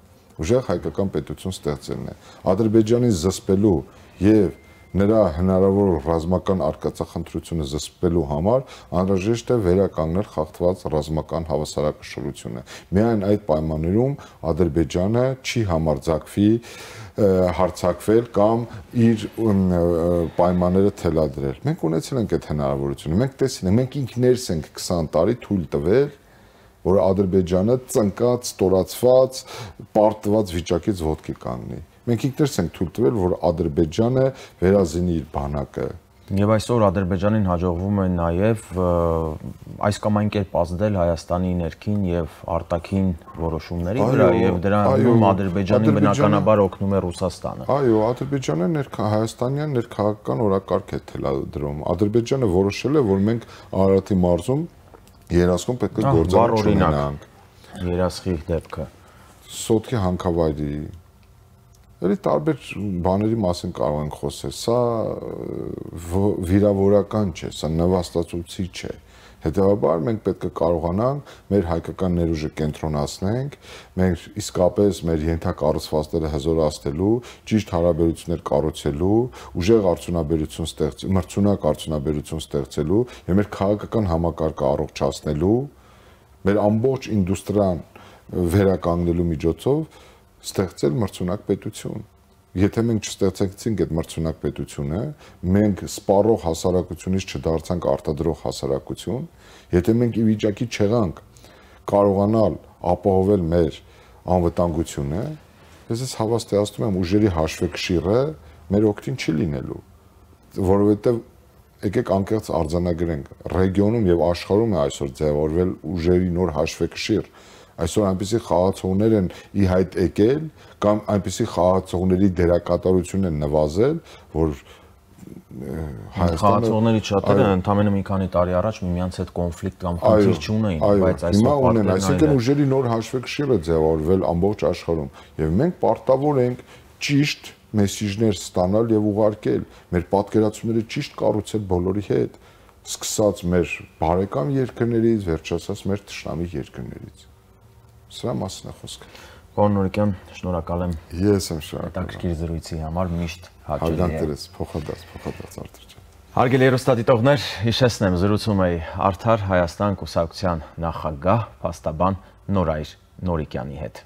Speaker 9: ուժեղ հայկական պետություն ստեղծելն է։ Ադրբեջանի զսպելու եւ նրա հնարավոր ռազմական արկածախնդրությունը զսպելու համար անհրաժեշտ է վերականգնել խախտված ռազմական հավասարակշռությունը։ Միայն այդ պայմաններում Ադրբեջանը չի համարձակվի հարցակվել կամ իր պայմանները թելադրել։ Մենք ունեցել ենք այդ հնարավորությունը, մենք տեսել ենք, մենք ինքներս ենք քսան տարի թույլ տվել, որ Ադրբեջանը ծնկած, ստորացված, պարտված վիճակից ոտքի կանգնի։ Մենք ինքներս ենք թույլ տվել, որ Ադրբեջանը վերազինի իր բանակը։
Speaker 1: Եվ այսօր Ադրբեջանին հաջողվում է նաև այս կամ այն կերպ ազդել Հայաստանի ներքին եւ արտաքին որոշումների վրա եւ դրանում Ադրբեջանի բնականաբար օգնում է Ռուսաստանը։
Speaker 9: Այո, Ադրբեջանը Հայաստանյան ներքաղաքական օրակարգ է թելադրում։ Ադրբեջանը որոշել է, որ մենք Արարատի մարզում երասխուն պետք է գործառույթ ունենանք։
Speaker 1: Երասխի դեպքը։
Speaker 9: Սոտքի հանքավայրի Էլի տարբեր բաների մասին կարող ենք խոսել, սա վիրավորական չէ, սա նվաստացուցիչ չէ։ Հետևաբար մենք պետք է կարողանանք մեր հայկական ներուժը կենտրոնացնենք, մեր իսկապես մեր ենթակառուցվածքները հզորացնելու, ճիշտ հարաբերություններ կառուցելու, ուժեղ արդյունաբերություն ստեղծելու, մրցունակ արդյունաբերություն ստեղծելու եւ մեր քաղաքական համակարգը առողջացնելու, մեր ամբողջ ինդուստրիան վերականգնելու միջոցով ստեղծել մրցունակ պետություն։ Եթե մենք չստեղծեցինք այդ մրցունակ պետությունը, մենք սպառող հասարակությունից չդարձանք արտադրող հասարակություն, եթե մենք ի վիճակի չեղանք կարողանալ ապահովել մեր անվտանգությունը, ես հավաստիացնում եմ ուժերի հաշվեկշիռը մեր օգտին չի լինելու, որովհետև եկեք անկեղծ արձանագրենք, ռեգիոնում եւ աշխարհում է այսօր ձևավորվել ուժերի նոր հաշվեկշիռ։ Այսօր այնպիսի խաղացողներ են ի հայտ եկել կամ այնպիսի խաղացողների դերակատարությունն են նվազել, որ
Speaker 1: խաղացողների շատերը ընդամենը մի քանի տարի առաջ միմյանց հետ կոնֆլիկտ կամ խնդիր չունեին, բայց այսօր
Speaker 9: ունեն, այսինքն ուժերի նոր հաշվեկշիռ է ձևավորվել ամբողջ աշխարհում եւ մենք պարտավոր ենք ճիշտ մեսիջներ ստանալ եւ ուղարկել, մեր պատկերացումները ճիշտ կառուցել բոլորի հետ, սկսած մեր բարեկամ երկրներից, վերջացած մեր թշնամի երկրներից։ Սրա մասին է խոսքը։
Speaker 1: Պարոն Նորիկյան, շնորհակալ եմ։
Speaker 9: Ես եմ շնորհակալ։
Speaker 1: Հետաքրքիր զրույցի համար միշտ հաճելի է։
Speaker 9: Հարգանքներս, փոխադարձ, փոխադարձ Արտուր ջան։
Speaker 1: Հարգելի հեռուստադիտողներ, հիշեցնեմ, զրուցում էի Արդար Հայաստան կուսակցության նախագահ, փաստաբան Նորայր Նորիկյանի հետ։